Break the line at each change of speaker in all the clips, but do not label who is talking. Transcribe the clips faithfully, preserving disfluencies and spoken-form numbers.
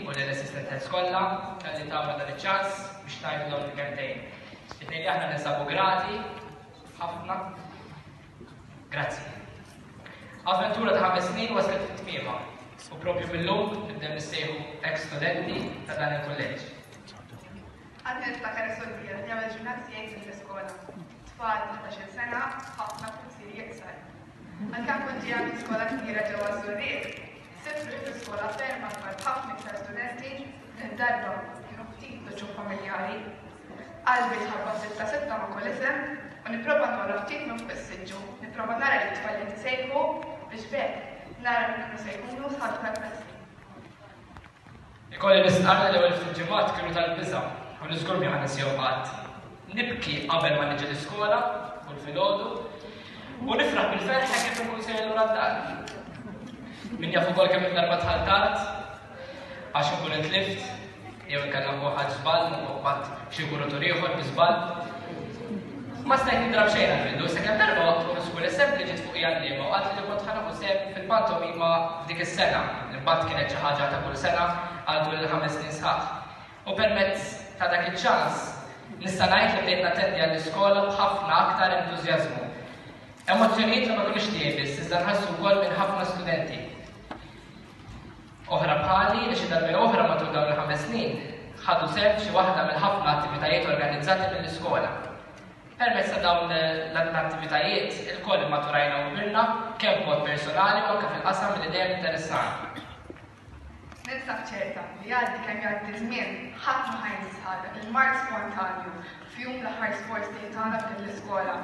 u lill-assistant heads kollha talli tawna dan iċ-ċans biex ngħidu dawn il-kelmtejn. It-tnejn li aħna ninsabu grati ħafna. Grazzi. Avventura ta' ħames snin waslet fi tmiemha u propju mill-lum nibdew nissejħu ex-studenti ta' dan il-kulleġġ.
Għadni niftakar is-solvija li għamel ġurnata tiegħi fl-iskola. Tfal ta' ħdax-il sena, ħafna pulzieri iqsar. Għalkemm kont ġejja minn skola kbira ġewwa Żurrieq, sibt ruħi fi skola ferm akbar b'ħafna iktar studenti li darba kienu ftit l-uċuħ familjari. Qalbi tħabbat sitta sitta ma' kull isem u nipprova nora ftit minn fuq is-siġġu, nipprova nara li t-tfal li tisejħu biex b'hekk nara min kienu se jkunu sħabi tal-klassi.
Ikolli nistqarr li l-ewwel ftit ġimgħat kienu tal-biża' u li żgur mi ħa ninsihom qatt. Nibki qabel ma niġi l-iskola kull filgħodu u nifraħ bil-ferħ hekk kif inkun sejjer lura d-dar. Min jaf ukoll kemm il-darba dħalt tard għax inkun intlift jew inkella nkun ħadt żball u qbadt xi kuritur ieħor bi żball. Ma stajt nindrab xejn għall-bidu, sakemm darba waqt kull school assembly ġiet fuqi għalliema u qaltli li kont ħa nieħu sehem fil-pantomima f'dik is-sena, li mbagħad kienet xi ħaġa ta' kull sena għal tul il-ħames snin sħaħ. U permezz ta' dak iċ-ċans nista' ngħid li bdejt nattendi għall-iskola b'ħafna aktar entużjażmu. Emozzjonijiet li ma kinux tiegħi biss, iżda nħassu wkoll minn ħafna studenti. Oħra bħali li xi darba jew oħra matul dawn il-ħames snin ħadu sehem f'xi waħda mill-ħafna attivitajiet organizzati mill-iskola. Permezz ta' dawn l-attivitajiet ilkoll immaturajna u kbirna kemm b'mod personali u anke fil-qasam li dejjem interessana.
Ninsab ċerta li jgħaddi kemm jgħaddi żmien, ħadd ma ħa jinsa dak il-marċ spontanju f'jum l-aħħar sports day tagħna f'din l-iskola.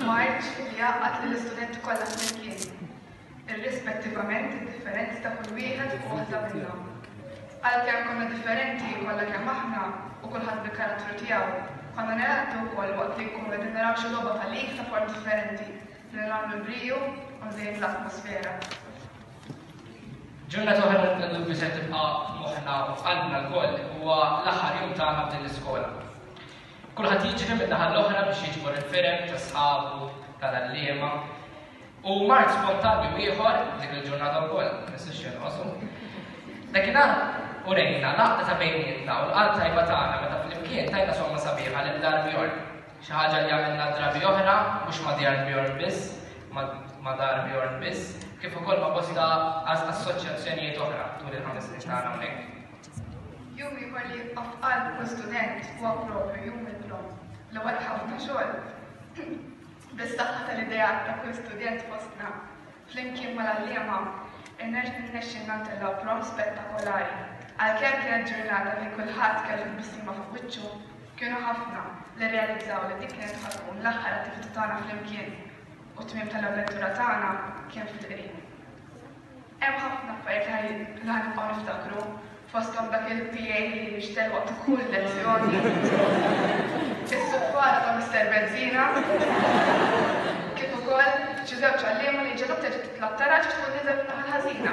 Marċ li jgħaqqad lill-istudenti kollha flimkien, irrispettivament id-differenzi ta' kull wieħed u waħda minna. Għalkemm konna differenti kollha kemm aħna u kulħadd bil-karattru tiegħu, konna ningħaqdu wkoll waqt li nkunu qegħdin naraw xi logħba ta' league ta' form differenti li nagħmlu l-briju u nżejnu l-atmosfera.
Ġurnata oħra li bla dubju se tibqa' f'moħħna u f'qalbna lkoll huwa l-aħħar jum tagħna f'din l-iskola. Kulħadd jiġri min-naħa l-oħra biex jiġbor il-firem ta' sħabu, tal-għalliema. U marċ spontanju ieħor dik il-ġurnata wkoll, ma nistax jonqosu. Dakinhar urejna l-għaqda ta' bejnietna u l-qalb tajba tagħna meta flimkien tajna somma sabiħa lil Dar Bjorn. Xi ħaġa li għamilna drabi oħra, mhux ma' Dar Bjorn biss, ma' Dar Bjorn biss, kif ukoll ma' bosta assoċjazzjonijiet oħra tul il-ħames snin tagħna hawnhekk.
Jum ieħor li jibqa' f'qalb kull student huwa propju jum il-prom, li wara ħafna xogħol. Bis-saħħa tal-ideat ta' kull student fostna, flimkien mal-għalliema, irnexxielna ntellgħu prom spettakolari. Għalkemm kienet ġurnata fejn kulħadd kellu tbissima fuq wiċċu, kienu ħafna li rrealizzaw li dik kienet ħa tkun l-aħħar attività tagħna flimkien u t-tmiem tal-avventura tagħna kien fil-qrib. Hemm ħafna affarijiet li ħa nibqgħu niftakru, fosthom dak il-P A li nixtel waqt kull lezzjoni, is-suffara ta' Mister Benzina, kif ukoll xi żewġ għalliema li ġew terġa' titla' t-taraġ tkun nieżel min-naħa l-ħażina.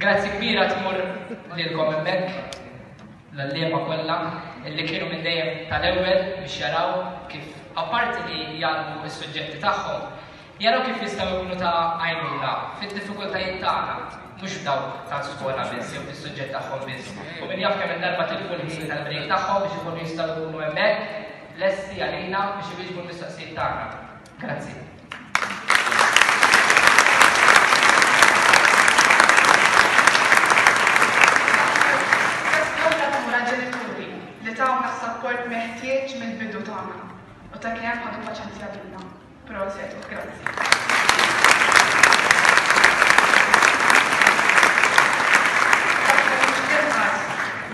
Grazzi kbira tmur lilkom hemmhekk, l-għalliema kollha illi kienu minn dejjem tal-ewwel biex jaraw kif apparti li jgħallmu s-suġġetti tagħhom, jaraw kif jistgħu jkunu ta' għajnuna fid-diffikultajiet tagħna, mhux dawk tal-skola biss jew fis-suġġett tagħhom biss. U min jaf kemm il-darba tilfu l-ħin tal-break tagħhom biex ikunu jistgħu jkunu hemmhekk lesti għalina biex iwieġbu l-mistoqsijiet tagħna. Grazzi.
Li tawna s-sapport meħtieġ mill-bidu tagħna u ta' kemm ħadu paċenzja bina. Proset u grazzi.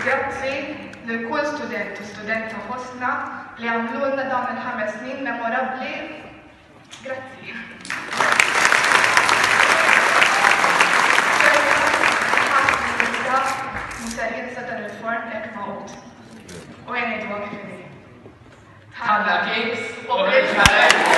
Grazzi lil kull student u studenta fostna li għamlulna dawn il-ħames snin memorabbli. Grazzi. Musa jinsa dan il-form hekk mawt. U jien ngħidu kif inhi.
Tħanna cakes u ħriġna.